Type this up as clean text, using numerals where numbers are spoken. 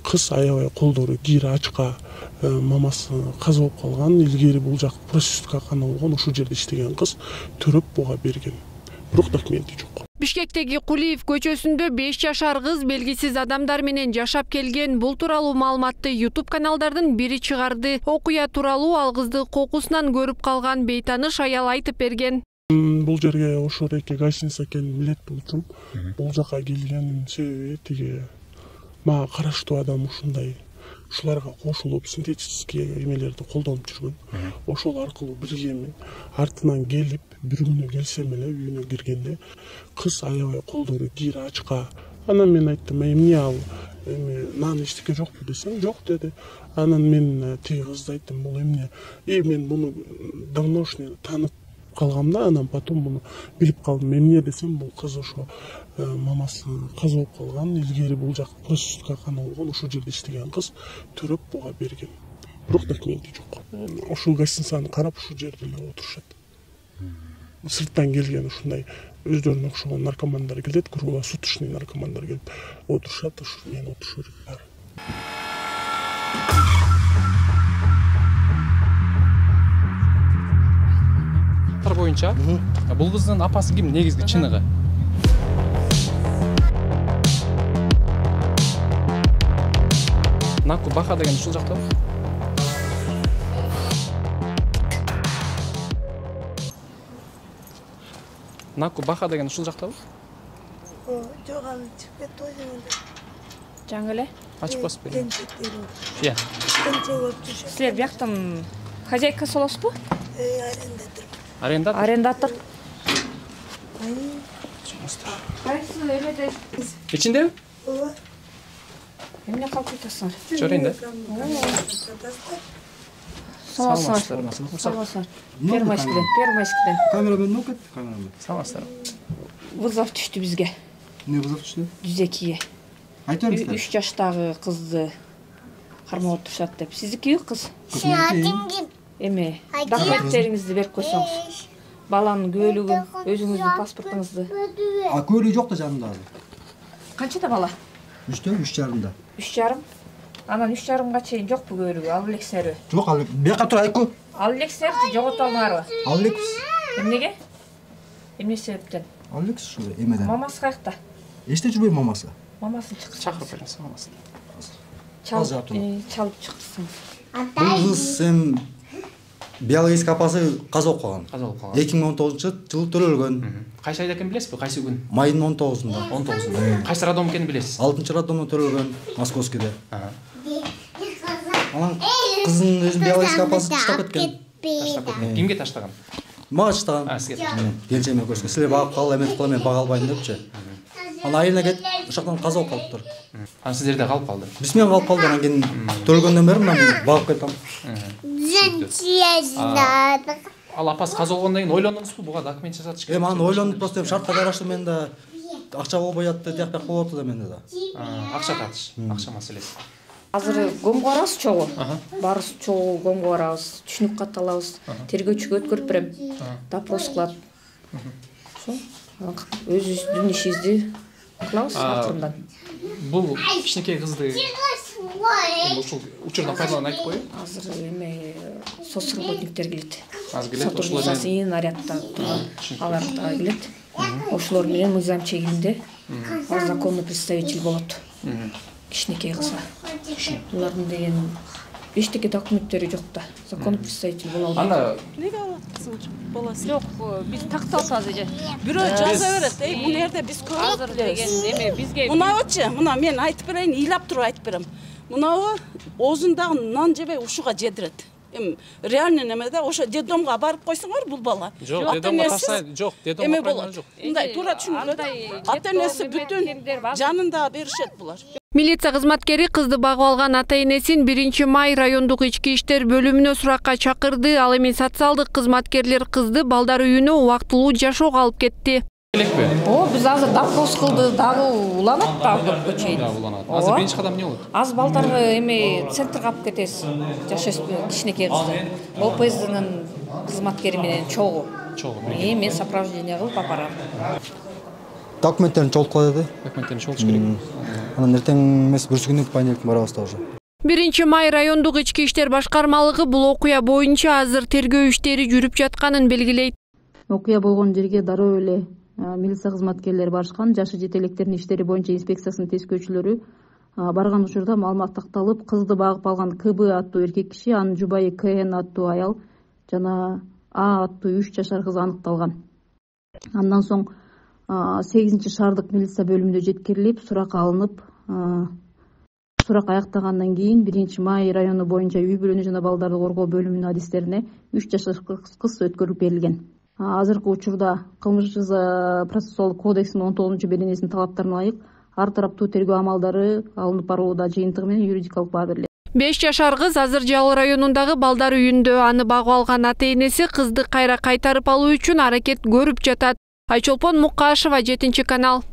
Кыз аябай колдору кири ачка, мамасы каза болуп калган. Илгери бул жак проституткакана болгон, ошол жерде иштеген кыз төрөп буга берген. Бирок документи жок. Бишкектеги Кулиев көчөсүндө 5 жашар кыз белгисиз адамдар менен жашап келген. Бул тууралуу маалыматты YouTube каналдардын бири чыгарды. Окуя тууралуу ал кызды кокусунан көрүп калган бейтаныш аял айтып берген. Бул жерге ошо эки гостиница экенин билет болчумун. Бул жака келген себеби тиги мага караштуу адам ушундай ушуларга кошулуп синтетический эмелерди колдонуп жүргөн. Ошол аркылуу билгенмин. Артынан келип, бир күнү келсем эле үйүнө киргенде кыз аябай колдору кири ачка. Анан мен айттым, эмне ал, нан эчтеке жокпу десем, жок деди. Анан мен тиги кызды айттым, бул эмне? Мен муну давношний таанып калгам да, анан потом муну билип калдым. Эмне десем, бул кыз ошо мамасы каза болуп калган. Илгери бул жак проституткакана болгон, ошол жерде иштеген кыз төрөп буга берген. Бирок документи жок. Ошол гостиницаны карап ушул жерде эле отурушат. Сырттан келген ушундай өздөрүнө окшогон наркомандар келет, круглосуточный наркомандар келип отурушат, ошо мен отуруп жүрөм. Боюнча бул кыздын апасы ким негизги чыныгы? Наку Баха деген ушул жактабы? Наку Баха деген ушул жактабы? Жок, аны чыгып кетти го жөнүндө. Жаңы эле? Ачып басып берем. Иә. Силер бияктын хозяйкасы болосузбу? Арендатор. Арендатор? Арендатор. Кайсы эмеде? Ичиндеби? Ооба. Эмне калып жатасыңар? Чорейин да. Саламатсыздар. Саламатсыздар. Первомайскиден. Камерамен окет, камерамен. Саламатсыздар. Вызов түштү бизге. Не вызов түштү? 102-ге. Айтып бериңиздер. 3 жаштагы кызды кармап отурушат деп. Сиздики кыз? Эме, документтериңизди берип койсоңуз. Баланын күбөлүгүн, өзүңүздүн паспортуңузду. Күбөлүгү жок да жанында азыр. Канчада бала? 3-тө, 3,5-да. 3,5? Анан 3,5га чейин жокпу күбөлүгү, алып элексиңерби? Жок, ал бияка тур Айку. Алып элексиңерби, жогото алмаңарбы? Алып элекпиз. Эмнеге? Эмне себептен? Алып элекпиз ушул эмеден. Мамасы каякта? Эчте жүрбөйм мамасы. Мамасын чакырып бериңиз мамасын. Чалып чакырсың. Бул кыз биологический апасы каза болуп калган. Каза болуп калган. 2019-жылы төрөлгөн. Кайсы айда экенин билесизби? Кайсы күн? Майдын 19-унда. 19-унда. Кайсы роддом экенин билесиз? 6-роддомдон төрөлгөн, Московскийде. Анан кыздын өзүнүн биологический апасы таштап кеткен. Таштап кеткен. Кимге таштаган? Мага таштаган. Сизге. Келчеме көзгө. Силер багып кал, эмет кыл, мен бага албайм депчи. Анан айына кетип, ошоктон каза болуп калыптыр. Анан сиздерде калып калды. Биз менен калып калды, анан кийин төрөлгөндөн бери мен багып кетем. Ал апасы каза болгондон кийин ойлондуңузбу, буга документ жасатыш керек? Аны ойлондуп просто шартка караштуу мен да акча болбой жатты, тияк бияк болуп атты да менде да. Акча тартыш, акча маселеси. Азыр көмгө барабыз чогуу. Барыбыз чогуу көмгө барабыз, түшүнүк кат алабыз. Тергөөчүгө өткөрүп берем. Допрос кылат. Ошо өзүбүздүн ишибизди кылабыз акырындан. Бул кичинекей кызды ушул учурдан пайдаланып айтып коеюн. Азыр эме соцработниктер келет. Азыр келет, ошолор нарядта турган алар да келет. Ошолор менен мыйзам чегинде законный представитель болот. Кичинекей кызга. Булардын деген эчтеке документтери жок да. Законный представитель боло албайт. Анда Неге алат кызың баласы? Жок, биз тактап атабыз эже. Бирөө жаза берет. Бул жерде биз Азыр деген эме бизге Мынабычы, мына мен айтып берейин, ыйлап туруп айтып берем. Мынабы оозундагы нан жебей ушуга жедирет. Реально немеде ошо детдомго барып койсоңор бул бала. Жок, детдомго таштай, жок, детдомго барган жок. Мындай туура түшүнүлөт. Ата-энеси бүтүн жанында беришет булар. Милиция кызматкери кызды багып алган ата-энесин 1-май райондук ички иштер бөлүмүнө суракка чакырды. Ал эми социалдык кызматкерлер кызды балдар үйүнө убактылуу жашоого алып кетти. Элекпи? Биз азыр допрос кылды, дагы уланат дагы чейин. Дагы уланат. Азыр биринчи кадам эмне болот? Аз балдарды эме центрге алып кетесиз. Жашайсызбы кичинекей кызды. ОПСдин кызматкери менен чогуу. Чогуу. Мен сопровождение кылып алып барам. Документтерин чогулткула деди. Документтерин чогултуш керек. Анан эртең эмес бүрсү күнү понедельник барабыз да уже. 1 май райондук ички иштер башкармалыгы бул окуя боюнча азыр тергөө иштери жүрүп жатканын белгилейт. Окуя болгон жерге дароо эле милиция кызматкерлери барышкан. Жашы жете электердин иштери боюнча инспекциясынын тескөөчүлөрү барган учурда маалымат такталып, кызды багып алган КБ аттуу эркек киши, анын жубайы КН аттуу аял жана А аттуу 3 жашар кыз аныкталган. Андан соң 8-шаардык милиция бөлүмүнө жеткирилип, сурак алынып, сурак аяктагандан кийин 1 май району боюнча үй бүлөнү жана балдарды коргоо бөлүмүнүн адистерине 3 жашар кыз өткөрүп берилген. Азыркы учурда кылмыш процессуалдык кодексинин 19-беренесинин талаптарына ылайык ар тараптуу тергөө амалдары алынып барууда, жыйынтыгы менен юридикалык баа берилет. 5 жашар кыз азыр Жалал районундагы балдар үйүндө. Аны багып алган ата-энеси кызды кайра кайтарып алуу үчүн аракет көрүп жатат. Айчолпон Мукашева, 7 канал.